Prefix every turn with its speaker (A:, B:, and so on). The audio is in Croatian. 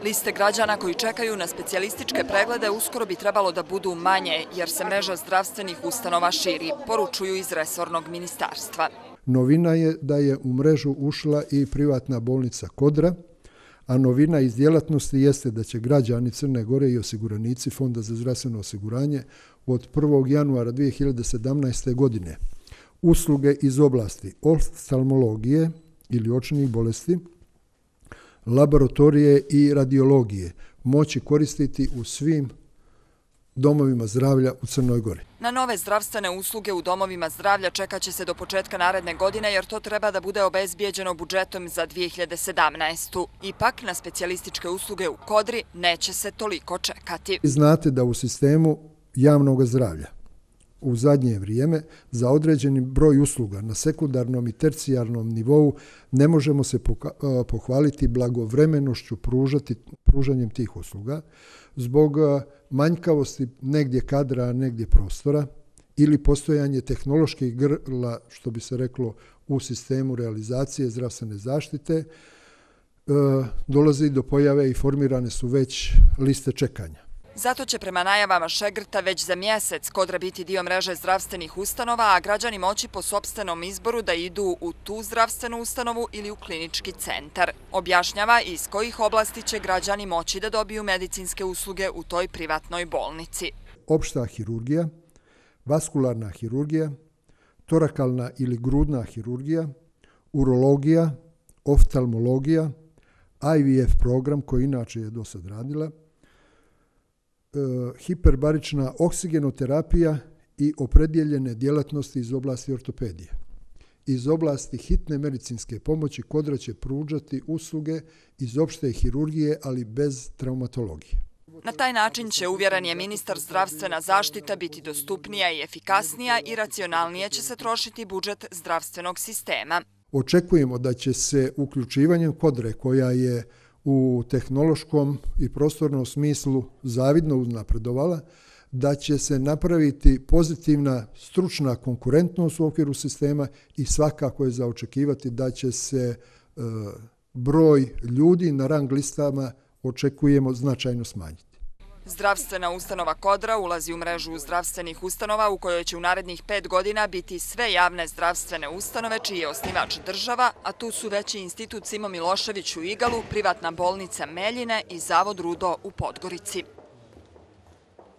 A: Liste građana koji čekaju na specijalističke preglede uskoro bi trebalo da budu manje, jer se mreža zdravstvenih ustanova širi, poručuju iz resornog ministarstva.
B: Novina je da je u mrežu ušla i privatna bolnica Kodra, a novina iz djelatnosti jeste da će građani Crne Gore i osiguranici Fonda za zdravstveno osiguranje od 1. januara 2017. godine usluge iz oblasti oftalmologije ili očnih bolesti, laboratorije i radiologije moći koristiti u svim domovima zdravlja u Crnoj Gori.
A: Na nove zdravstvene usluge u domovima zdravlja čekat će se do početka naredne godine, jer to treba da bude obezbijeđeno budžetom za 2017. Ipak, na specijalističke usluge u Kodri neće se toliko čekati.
B: Znate da u sistemu javnog zdravlja u zadnje vrijeme za određeni broj usluga na sekundarnom i tercijarnom nivou ne možemo se pohvaliti blagovremenošću pružanjem tih usluga zbog manjkavosti negdje kadra, negdje prostora ili postojanje tehnoloških grla, što bi se reklo, u sistemu realizacije zdravstvene zaštite, dolazi do pojave i formirane su već liste čekanja.
A: Zato će prema najavama Šegrta već za mjesec Kodra biti dio mreže zdravstvenih ustanova, a građani moći po sopstvenom izboru da idu u tu zdravstvenu ustanovu ili u klinički centar. Objašnjava iz kojih oblasti će građani moći da dobiju medicinske usluge u toj privatnoj bolnici.
B: Opšta hirurgija, vaskularna hirurgija, torakalna ili grudna hirurgija, urologija, oftalmologija, IVF program koji inače je do sad radila, hiperbarična oksigenoterapija i opredjeljene djelatnosti iz oblasti ortopedije. Iz oblasti hitne medicinske pomoći Kodra će pružati usluge iz opšte hirurgije, ali bez traumatologije.
A: Na taj način će, uvjeren je ministar, zdravstvena zaštita biti dostupnija i efikasnija i racionalnije će se trošiti budžet zdravstvenog sistema.
B: Očekujemo da će se uključivanjem Kodre, koja je u tehnološkom i prostornom smislu zavidno uznapredovala, da će se napraviti pozitivna stručna konkurentnost u okviru sistema i svakako je za očekivati da će se broj ljudi na rang listama očekujemo značajno smanjiti.
A: Zdravstvena ustanova Kodra ulazi u mrežu zdravstvenih ustanova u kojoj će u narednih 5 godina biti sve javne zdravstvene ustanove čiji je osnivač država, a tu su već i Institut Simo Milošević u Igalu, privatna bolnica Meljine i Zavod Rudo u Podgorici.